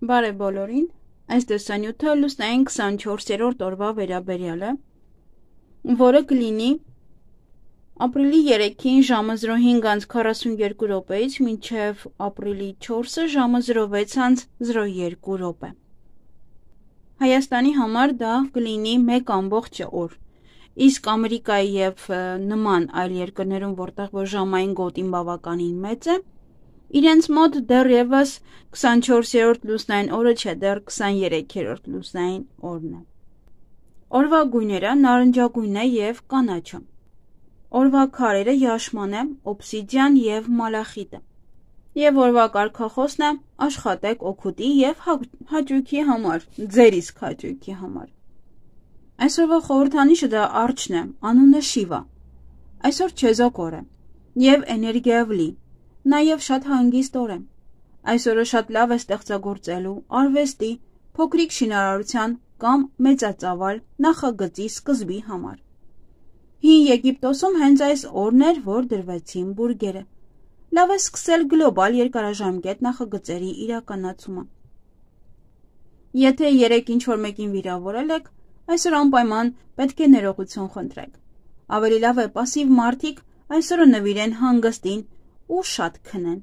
Բարև բոլորին, այս տեսանյութը լուսնային 24-րդ օրվա վերաբերյալ է, որը կլինի ապրիլի 3-ին ժամը 05:42 րոպեից մինչև ապրիլի 4-ը ժամը 06:02 րոպե։ Հայաստանի համար դա կլինի 1 օր, իսկ Ամերիկայի և նման այլ երկրներում, որտեղ որ ժամային գոտին բավականին մեծ է, իրենց մոտ դեռևս 24-րդ լուսնային օրը չէ, դեռ 23-րդ լուսնային օրն է։ Օրվա գույները նարնջագույն է և կանաչը։ Օրվա քարերը յաշման է, օբսիդիան և մալախիտը։ Եվ օրվա կարգախոսն է աշխատեք օգուտի և հաճույքի համար, ձեր իսկ հաճույքի համար։ Այսօրվա խորհրդանիշը դա արջն է, անունը Շիվա։ Այսօր չեզոք օր է և էներգիայով լի, նաև շատ հանգիստ օր է։ Այսօրը շատ լավ է ստեղծագործելու, արվեստի, փոքրիկ շինարարության կամ մեծածավալ նախագծի սկզբի համար։ Հին Եգիպտոսում հենց այս օրն էր, որ դրվեցին բուրգերը։ Լավ է սկսել գլոբալ երկարաժամկետ նախագծերի իրականացումը։ Եթե երեկ ինչ-որ մեկին վիրավորել եք, այսօր անպայման պետք է ներողություն խնդրեք։ Ավելի լավ է պասիվ մարդիկ այսօրը նվիրեն հանգստին ու շատ քնեն։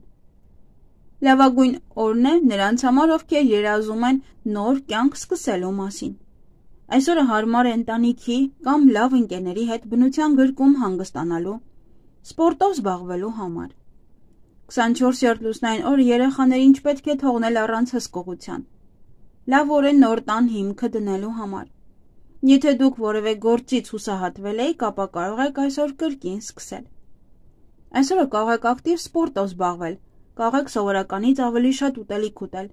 Լավագույն օրն է նրանց համար, ովքեր երազում են նոր կյանք սկսելու մասին։ Այսօրը հարմար է ընտանիքի կամ լավ ընկերների հետ բնության գրկում հանգստանալու, սպորտով զբաղվելու համար։ 24-րդ լուսնային օրը երեխաներին չպետք է թողնել առանց հսկողության։ Լավ օր է նոր տան հիմքը դնելու համար։ Եթե դուք որևէ գործից հուսահատվել եք, ապա կարող եք այսօր կրկին սկսել։ Այսօրը կարող եք ակտիվ սպորտով զբաղվել, կարող եք սովորականից ավելի շատ ուտելիք ուտել։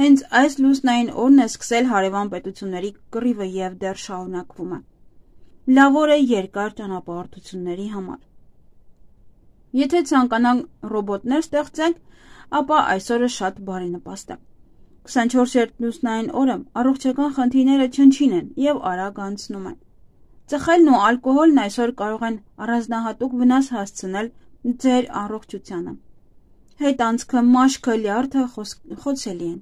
Հենց այս լուսնային օրն է սկսել հարևան պետությունների կռիվը և դեռ շարունակվում է։ Լավ օր է երկար ճանապարհորդությունների համար։ Եթե ցանկանաք ռոբոտներ ստեղծեք, ապա այսօրը շատ բարենպաստ է։ 24-րդ լուսնային օրը առողջական խնդիրները չնչին են և արագ անցնում են։ Ծխելն ու ալկոհոլն այսօր կարող են առանձնահատուկ վնաս հասցնել ձեր առողջությանը։ Հետանցքը, մաշկը, լյարդը խոցելի են։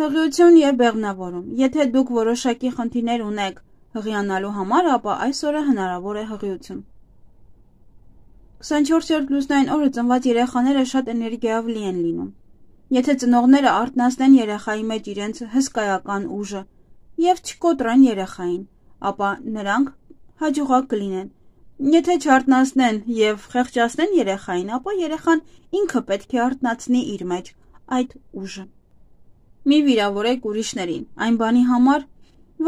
Հղիություն և բեղմնավորում։ Եթե դուք որոշակի խնդիրներ ունեք հղիանալու համար, ապա այսօրը հնարավոր է հղիություն։ 24-րդ լուսնային օրը ծնված երեխաները շատ էներգիայով լի են լինում։ Եթե ծնողները արթնացնեն երեխայի մեջ իրենց հսկայական ուժը և չկոտրեն երեխային, ապա նրանք հաջողակ կլինեն։ Եթե չարթնացնեն և խեղճացնեն երեխային, ապա երեխան ինքը պետք է արթնացնի իր մեջ այդ ուժը։ Մի վիրավորեք ուրիշներին, այն բանի համար,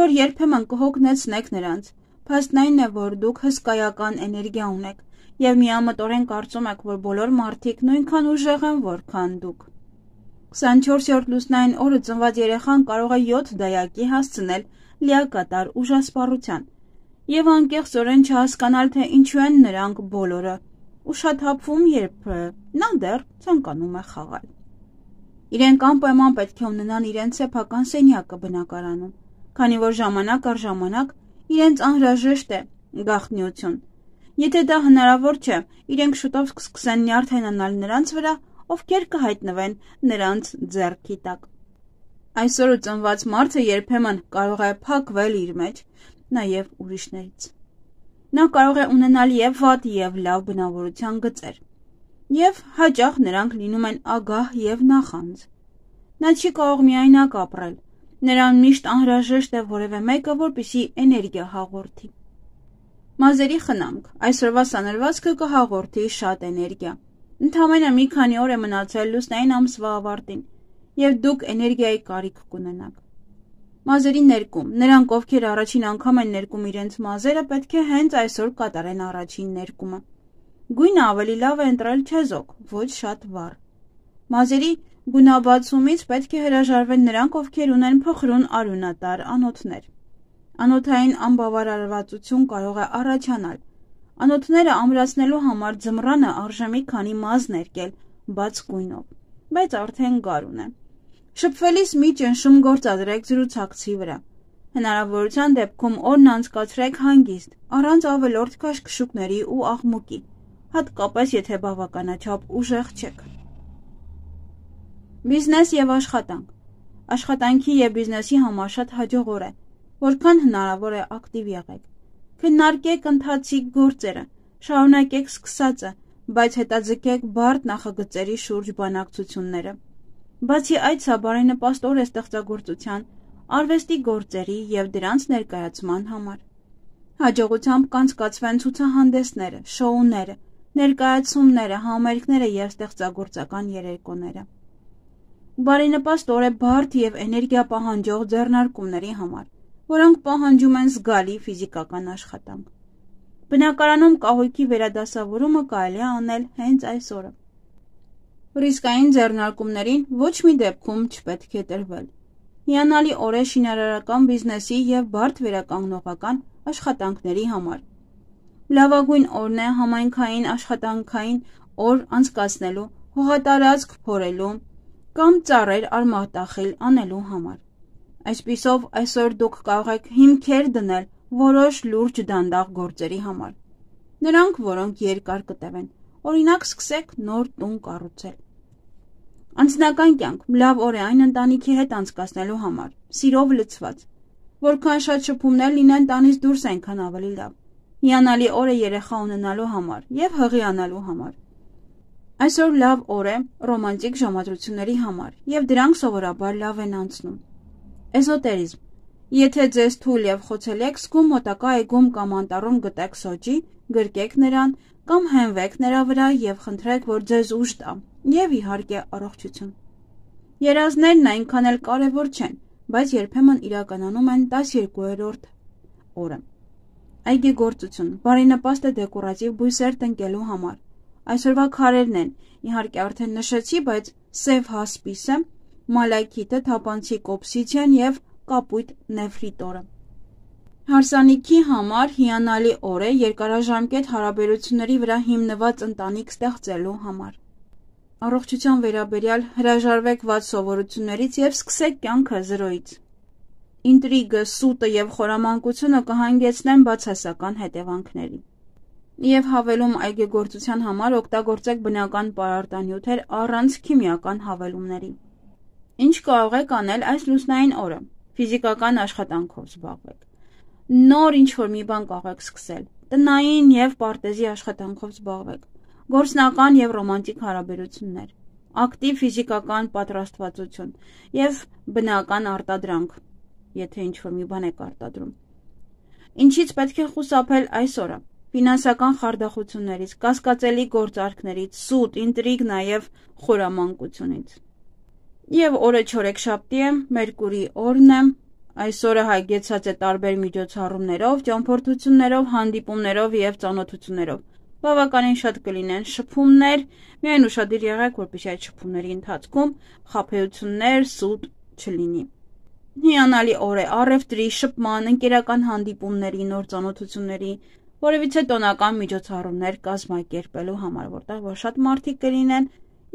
որ երբեմն կհոգնեցնեք նրանց։ Փաստն այն է, որ դուք հսկայական էներգիա ունեք և միամտորեն կարծում եք, որ բոլոր մարդիկ նույնքան ուժեղ են, որքան դուք։ 24-րդ լուսնային օրը ծնված երեխան կարող է 7 դայակի հասցնել լիակատար ուժասպառության և անկեղծորեն չհասկանալ, թե ինչու են նրանք բոլորը ուշաթափվում, երբ նա դեռ ցանկանում է խաղալ։ Իրենք անպայման պետք է ունենան իրենց սեփական սենյակը բնակարանում, քանի որ ժամանակ առ ժամանակ իրենց անհրաժեշտ է գաղտնիություն։ Եթե դա հնարավոր չէ, իրենք շուտով կսկսեն նյարդայնանալ նրանց վրա, ովքեր կհայտնվեն նրանց ձեռքի տակ։ Այսօրը ծնված մարդը երբեմն կարող է փակվել իր մեջ, նաև ուրիշներից։ Նա կարող է ունենալ և վատ, և լավ բնավորության գծեր, և հաճախ նրանք լինում են ագահ և նախանձ։ Նա չի կարող միայնակ ապրել, նրան միշտ անհրաժեշտ է որևէ մեկը, որպեսզի էներգիա հաղորդի։ Մազերի խնամք։ Այսօրվա սանրվածքը կհաղորդի շատ էներգիա։ Ընդամենը մի քանի օր է մնացել լուսնային ամսվա ավարտին, և դուք էներգիայի կարիք կունենաք։ Մազերի ներկում։ Նրանք, ովքեր առաջին անգամ են ներկում իրենց մազերը, պետք է հենց այսօր կատարեն առաջին ներկումը։ Գույնը ավելի լավ է ընտրել չեզոք, ոչ շատ վառ։ Մազերի գունաբացումից պետք է հրաժարվեն նրանք, ովքեր ունեն փխրուն արյունատար անոթներ։ Անոթային անբավարարվածություն կարող է առաջանալ։ Անոթները ամրացնելու համար ձմռանը արժե մի քանի մազ ներկել բաց գույնով, բայց արդեն գարուն է։ Շփվելիս մի ճնշում գործադրեք զրուցակցի վրա։ Հնարավորության դեպքում օրն անցկացրեք հանգիստ, առանց ավելորդ քաշքշուկների ու աղմուկի, հատկապես եթե բավականաչափ ուժեղ չեք։ Բիզնես և աշխատանք։ Աշխատանքի և բիզնեսի համար շատ հաջող օր է, որքան հնարավոր է ակտիվ եղեք։ Քննարկեք ընթացիկ գործերը, շարունակեք սկսածը, բայց հետաձգեք բարդ նախագծերի շուրջ բանակցությունները։ Բացի այդ, սա բարենպաստ օր է ստեղծագործության, արվեստի գործերի և դրանց ներկայացման համար։ Հաջողությամբ կանցկացվեն ցուցահանդեսները, շոուները, ներկայացումները, համերգները և ստեղծագործական երեկոները։ Բարենպաստ օր է բարդ և էներգիա պահանջող ձեռնարկումների համար, որոնք պահանջում են զգալի ֆիզիկական աշխատանք։ Բնակարանում կահույքի վերադասավորումը կարելի է անել հենց այս օրը։ Ռիսկային ձեռնարկումներին ոչ մի դեպքում չպետք է տրվել։ Հիանալի օր է շինարարական բիզնեսի և բարդ վերականգնողական աշխատանքների համար։ Լավագույն օրն է համայնքային աշխատանքային օր անցկացնելու, հողատարածք փորելու կամ ծառեր արմատախիլ անելու համար։ Այսպիսով, այսօր դուք կարող եք հիմքեր դնել որոշ լուրջ դանդաղ գործերի համար։ Նրանք, որոնք երկար կտևեն, օրինակ սկսեք նոր տուն կառուցել։ Անձնական կյանք լավ օր է այն ընտանիքի հետ անցկացնելու համար, սիրով լցված։ Որքան շատ շփումներ լինեն տանից դուրս, այնքան ավելի լավ։ Հիանալի օր է երեխա ունենալու համար և հղիանալու համար։ Այսօր լավ օր է ռոմանտիկ ժամադրությունների համար, և դրանք սովորաբար լավ են անցնում։ Էզոտերիզմ։ Եթե ձեզ թույլ և խոցելի եք զգում մոտակա այգում կամ անտառում գտեք սոճի, գրկեք նրան կամ հենվեք նրա վրա և խնդրեք, որ ձեզ ուժ տա, և իհարկե առողջություն։ Երազներն այնքան էլ կարևոր չեն, բայց երբեմն իրականանում են 12-րդ օրը։ Այգեգործություն։ Բարենպաստ է դեկորատիվ բույսեր տնկելու համար։ Այսօրվա քարերն են, իհարկե արդեն նշեցի, բայց սև հասպիսը, մալաքիթը, թափանցիկ օբսիդիան և կապույտ նեֆրիտորը։ Հարսանիքի համար հիանալի օր է երկարաժամկետ հարաբերությունների վրա հիմնված ընտանիք ստեղծելու համար։ Առողջության վերաբերյալ հրաժարվեք վատ սովորություններից և սկսեք կյանքը զրոյից։ Ինտրիգը, սուտը և խորամանկությունը կհանգեցնեն բացասական հետևանքների։ Եվ հավելում այգեգործության համար օգտագործեք բնական պարարտանյութեր առանց քիմիական հավելումների։ Ինչ կարող եք անել այս լուսնային օրը։ Ֆիզիկական աշխատանքով զբաղվեք։ Նոր ինչ-որ մի բան կարող եք սկսել։ Տնային և պարտեզի աշխատանքով զբաղվեք։ Գործնական և ռոմանտիկ հարաբերություններ։ Ակտիվ ֆիզիկական պատրաստվածություն և բնական արտադրանք, եթե ինչ-որ մի բան եք արտադրում։ Ինչից պետք է խուսափել այս օրը։ Ֆինանսական խարդախություններից, կասկածելի գործարքներից, սուտ, ինտրիգ, նաև խորամանկությունից։ Եվ օրը չորեքշաբթի է, Մերկուրի օրն է, այս օրը հագեցած է տարբեր միջոցառումներով, ճամփորդություններով, հանդիպումներով և ծանոթություններով։ Բավականին շատ կլինեն շփումներ, միայն ուշադիր եղեք, որպեսզի այդ շփումների ընթացքում խաբեություններ, սուտ չլինի։ Հիանալի օր է առևտրի, շփման, ընկերական հանդիպումների, նոր ծանոթությունների, որևիցե տոնական միջոցառումներ կազմակերպելու համար, որտեղ որ շատ մարդիկ կլինեն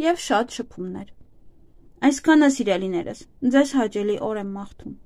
և շատ շփումներ։ Այսքանը սիրելիներս, ձեզ հաճելի օր եմ մաղթում։